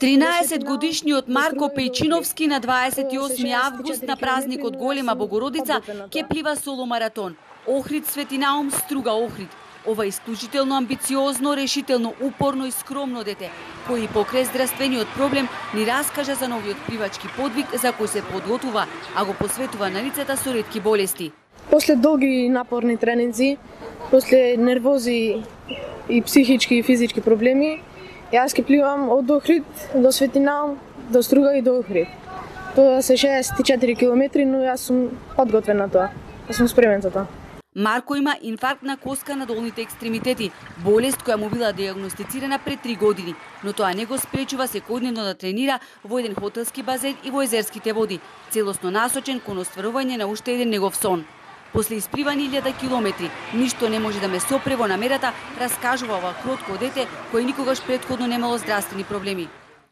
13-годишниот Марко Пејчиновски на 28 август на празникот Голема Богородица ќе плива соло маратон. Охрид Свети Наум, Струга Охрид. Ова исклучително амбициозно, решително, упорно и скромно дете, кој покрај здравствениот проблем ни раскажа за новиот пливачки подвиг за кој се подготвува, а го посветува на лицата со ретки болести. После долги и напорни тренинзи, после нервози и психички и физички проблеми, јас ќе пливам од Охрид до Свети Наум, до Струга и до Охрид. Тоа се 64 километри, но јас сум подготвен на тоа. Јас сум спремен за тоа. Марко има инфаркт на коска на долните екстремитети, болест која му била диагностицирана пред 3 години, но тоа не го спречува секојдневно да тренира во еден хотелски базен и во езерските води, целосно насочен кон остварување на уште еден негов сон. После испливани 1000 километри, ништо не може да ме сопре во намерата, раскажува ова кротко дете кој никогаш претходно немало здравствени проблеми.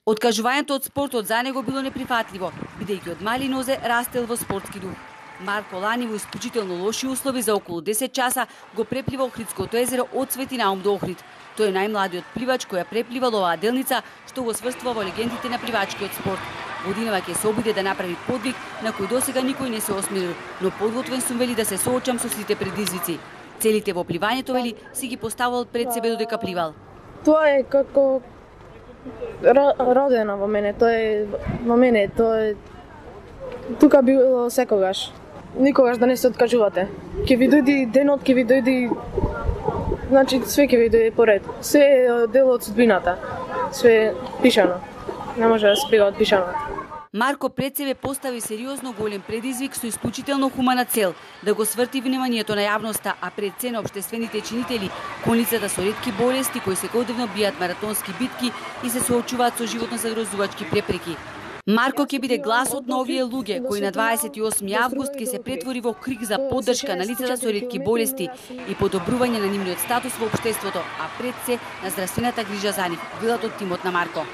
Откажувањето од спортот за него било неприфатливо, бидејќи од мали нозе растел во спортски дух. Марко лани во исклучително лоши услови за околу 10 часа го преплива Охридското езеро од Свети Наум до Охрид. Тој е најмладиот пливач која препливал оваа делница, што го сврстува во легендите на пливачкиот спорт. Годинава ќе се обиде да направи подвиг на кој досега никој не се осмелил, но подготвен сум вели да се соочам со сите предизвици. Целите во пливањето вели си ги поставувал пред себе додека пливал. Тоа е како родено во мене, тоа е тука било секогаш. Никогаш да не се откажувате. Ќе ви дојди денот, ќе ви дојди, значи све ќе ви дојде поред. Све е дел од судбината. Све е пишано. Не може да се бега од пишаното. Марко пред себе постави сериозно голем предизвик со исклучително хумана цел да го сврти вниманието на јавноста, а пред се на општествените чинители, кон лицата со ретки болести кои секојдневно бијат маратонски битки и се соочуваат со животно загрозувачки препреки. Марко ќе биде гласот на овие луѓе кои на 28 август ќе се претвори во крик за поддршка на лицата со ретки болести и подобрување на нивниот статус во општеството, а пред се на здравствената грижа за нив, велат од тимот на Марко.